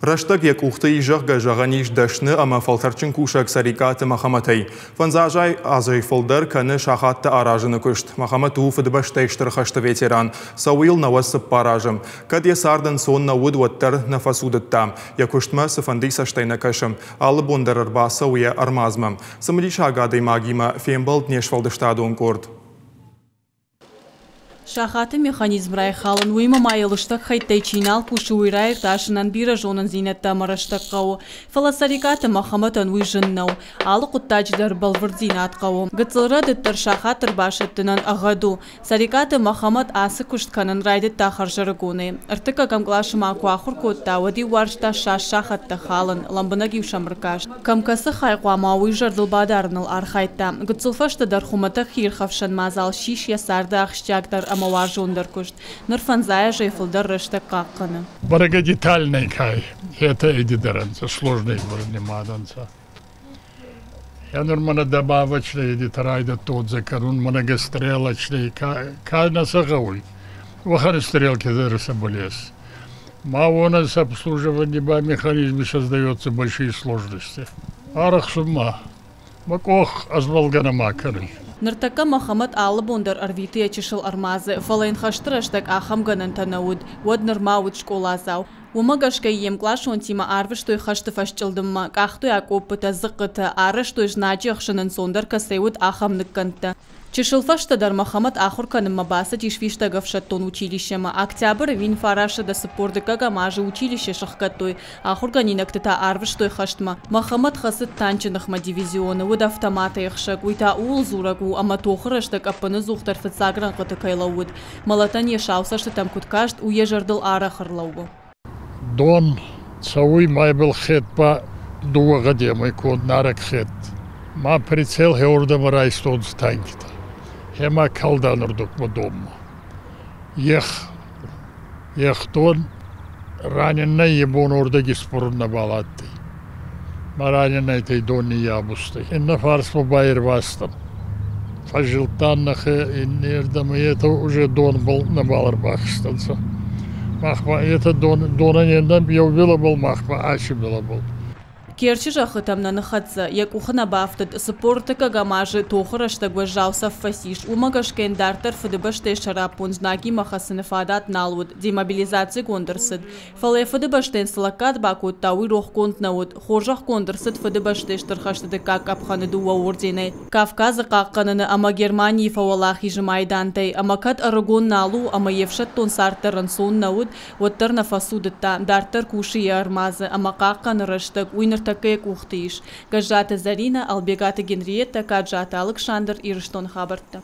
Рӕстӕг йӕ къухты ис, зӕгъгӕ, зӕгъӕн ис дӕсны ӕмӕ фӕлтӕрдджын кусӕг Цӕрикъаты Мӕхӕмӕтӕй. Фӕндзазӕй азӕй фылдӕр кӕны сахаттӕ аразыны куыст. Мӕхӕмӕт у Фыдыбӕстӕйы Стыр хӕсты ветеран. Цӕуы йыл 94 азы. Кӕд йӕ цард ӕнцон нӕ уыд, уӕддӕр нӕ фӕцудыдта. Йӕ куыстмӕ цыфӕнды цӕстӕй нӕ кӕсы. Алы бон дӕр ӕрбацӕуы йӕ ӕрмадзмӕ. Цымыдисаг адӕймагимӕ фембӕлд не сфӕлдыстадон къорд. Сахаты механизм райхалын, уыимӕ ма йӕ лыстӕг хӕйттӕй чи нал кусы, уый раиртасынӕн бирӕ зонындзинӕдтӕ ӕмӕ рӕстӕг хъӕуы. Фӕлӕ Цӕрикъаты Мӕхӕмӕтӕн уый зын нӕу. Алы хъуыддаджы дӕр бӕлвырддзинад хъӕуы. Гыццыл рӕдыд дӕр сахат ӕрбасӕттынӕн ӕгъгъӕд у. Цӕрикъаты Мӕхӕмӕт ацы куыст кӕнын райдыдта хӕрзӕрыгонӕй. Ӕртыккӕгӕм къласы ма куы ахуыр кодта, уӕд-иу уарзта сас сахӕттӕ халын, лӕмбынӕг-иу сӕм ӕркаст. Кӕм кӕцы хай хъуамӕ, уый зӕрдыл бадарыныл архайдта. Гыццыл фӕстӕдӕр хуымӕтӕг хиирхӕфсӕн мадзал ссис йӕ царды ахсджиагдӕр ӕмӕ уарзондӕр куыст. Ныр фӕндзай азӕй фылдӕр рӕстӕг хъахъхъӕны. Бӕрӕгӕ детальнӕй кай, етӕ эдиторӕнцӕ, сложный нимадӕнцӕ. Я нур мӕнӕ добавочный эдитор райдӕдтонцӕ кӕнун, мӕнӕ стрелочный, ка нӕ сӕ гъӕуй, уӕхӕн стрелки дӕр сӕбӕл ес. Ма уонӕн сӕ обслуживание ба механизме создается большие сложности. Арӕхсун ма, мӕ къох ӕзмӕлгӕ нӕма кӕнуй. Ныртӕккӕ Мӕхӕмӕт алы бон дӕр ӕрвиты йӕ чысыл ӕрмадзы, фӕлӕ йын хӕсты рӕстӕг ахӕм гӕнӕнтӕ нӕ уыд. Уӕд нырма уыд скъоладзау. Уымӕ гӕсгӕ йе мкъласонтимӕ арвыстой хӕсты фӕсчъылдыммӕ, къахтой акъоппытӕ, дзыхъхъытӕ, арӕзтой знаджы ӕхсын ӕнцондӕр кӕцӕй уыд, ахӕм ныккӕндтӕ. Чысыл фӕстӕдӕр Мӕхӕмӕт ахуыр кӕнынмӕ бацыдис фистӕг ӕфсӕддон училищемӕ. Октябры 1942 азы училище сӕхгӕдтой, ахуыргӕнинӕгты та арвыстой хӕстмӕ. Мӕхӕмӕт хӕцыд танчы ныхмӕ дивизионы, уыд автоматӕй ӕхсӕг. Уый та ууыл дзурӕг у, ӕмӕ тохы рӕстӕг ӕппынӕдзухдӕр фыццаг рӕнхъыты кӕй лӕууыд. Мӕлӕтӕн йӕ сау цӕстытӕм куыд каст, уый йӕ зӕрдыл арӕх ӕрлӕууы. Дон цӕуй майбӕл хедбӕ дууӕ гъӕдемӕй конд нарӕг хед. Ма прицел хеурдӕмӕ райстонцӕ танкитӕ. Хема калданурдукмӕ донмӕ. Ех, ехдон раненнӕй е бон уордӕги спорун нӕбал адтӕй. Ма раненнӕйтӕй дон ниййабузтӕй. Иннӕ фарсмӕ байервазтан. Фӕззилдтан нӕхе иннердӕмӕ, етӕ уже донбӕл нӕбал ӕрбахизтӕнцӕ. Мах ба етӕ дон, донӕн е еу билӕбӕл, мах ба аци билӕбӕл. Керчы зӕххытӕм нӕ ныххӕццӕ, йӕ къухы нӕ бафтыд. 43-ӕм азы тохы рӕстӕг уӕззау цӕф фӕцис. Уымӕ гӕсгӕ йын дарддӕр Фыдыбӕстӕйы сӕраппонд знагимӕ хӕцыны фадат нал уыд, демобилизацигонд ӕрцыд. Фӕлӕ йӕ Фыдыбӕстӕйӕн цы лӕггад бакодта, уый рохгонд нӕ уыд. Хорзӕхгонд ӕрцыд Фыдыбӕстӕйы Стыр хӕсты дыккаг къӕпхӕны дыууӕ орденӕй, Кавказы хъахъхъӕныны ӕмӕ Германийы фӕуӕлахизы майдантӕй. Ӕмӕ кӕд ӕрыгон нал у ӕмӕ йе фсӕддон цард дӕр ӕнцон нӕ уыд, уӕддӕр нӕ фӕцудыдта. Дарддӕр кусы йӕ ӕрмадзы ӕмӕ хъахъхъӕны рӕстӕг, уый ныртӕккӕ йӕ къухты ис. Гӕззаты Зӕринӕ, Ӕлбегаты Генриеттӕ, Каджаты Алыксандр, Ирыстоны хабӕрттӕ.